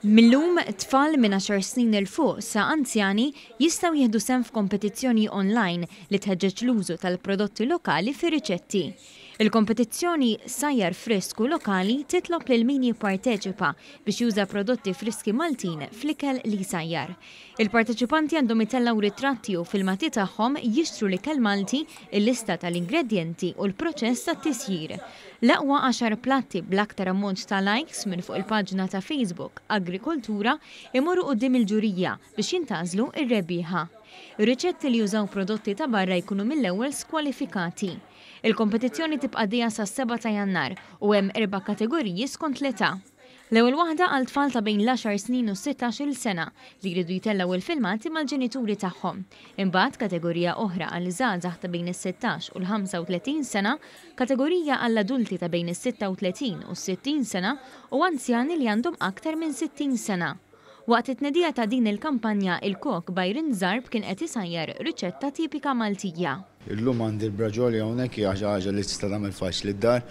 Mil-lum, tfal minn għaxar snin 'il fuq sa anzjani jistgħu jieħdu sehem f'kompetizzjoni online li tħeġġeġ l-użu tal-prodotti lokali fir-riċetti. Il-kompetizzjoni Sajjar Frisk u Lokali titlob lil min jipparteċipa biex juża prodotti friski Maltin fl-ikel li jsajjar. Il-parteċipanti għandhom itellgħu ritratti u filmati tagħhom jixtru l-ikel Malti, il-lista tal-ingredjenti u l-proċess tat-tisjir. L-aqwa għaxar platti bl-aktar ammont ta' likes minn fuq il-paġna ta' Facebook Agrikoltura imorru quddiem il-ġurija biex jintgħażlu r-rebbieħa. Ir-riċetti li jużaw prodotti ta' barra jkunu mill-ewwel skwalifikati. Il-kompetizzjoni tibqa' għaddejja sas-sebgħa ta' Jannar u hemm erba' kategoriji skont l-età. L-ewwel waħda għal tfal ta' bejn l-għaxar snin u s-sittax-il sena li jridu jtellgħu il-filmati mal-ġenituri tagħhom. Imbagħad kategorija oħra għal żgħażagħ ta' bejn is-sittax u l-35 sena, kategorija għall-adulti ta' bejn is-36 u s-60 sena u anzjani li għandhom aktar minn 60 sena. Waqt it-tnedija ta' din il-kampanja, il-kok Byron Zarb kien qed isajjar riċetta tipika Maltija. Illum għandi l-braġoli hawnhekk hija xi ħaġa li tista' tagħmel faċli d-dar.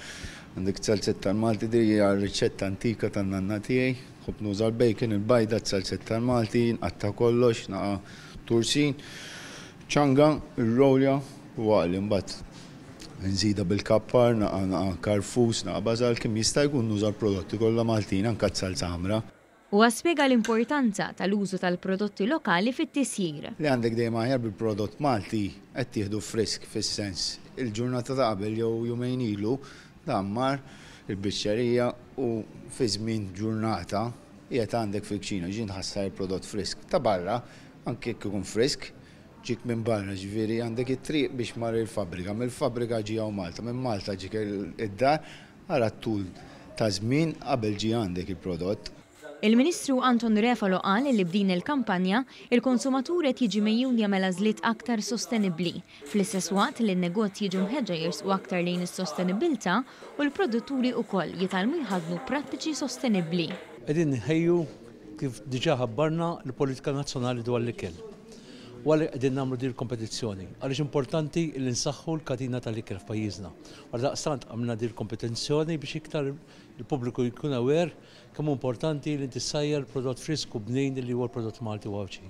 Għandek zalzett tal-Malti din hija riċetta antika tan-nanna tiegħi. Nħobb nuża l-bacon, il-bajda, z-zalzett tal-Malti, nqatta' kollox, naqa' tursin, ċanga, ir-rolja u għaqli mbagħad nżidha bil-kappar, naqa' naqa' karfus, naqa' bażal, kemm jista' jkun nuża l-prodotti kollha Maltin anke z-zalza ħamra. Huwa spjega l-importanza tal-użu tal-prodotti lokali fit-tisjir. Li għandek dejjem aħjar bil-prodott Malti qed tieħdu frisk fis-sens il-ġurnata ta' qabel jew jumejn ilu dan mar il-biċċerija u fi żmien ġurnata qiegħed għandek fil-kċina ġie nħassar il-prodott frisk. Ta' barra anke jekk ikun frisk ġiek minn barra ġifieri għandek it-triq biex mar il-fabbrika, mill-fabbrika ġie hawn Malta, minn Malta ġiek id-dar Ara t-tul ta' żmien qabel ġie għandek il-prodott. Il-Ministru Anton Refalo qal li b'din il-kampanja, il-konsumatur qed jiġi megħjun jagħmel għażliet aktar sostenibbli, fl-istess waqt li n-negozji jiġu mħeġġa jersqu aktar lejn is-sostenibbiltà u l-produtturi ukoll jitgħallmu jħaddnu prattiċi sostenibbli. Qegħdin inħejju, kif diġà ħabbarna, l-politika nazzjonali dwar l-ikel. U għalhekk qegħdin nagħmlu din il-kompetizzjoni, għaliex importanti li nsaħħu l-katina tal-ikel f'pajjiżna. Għaldaqstant għamilna din il-kompetizzjoni biex iktar il-pubbliku jkun aware kemm hu importanti li inti ssajjar prodott frisk u bnin li huwa l-prodott Malti u Għawdxi.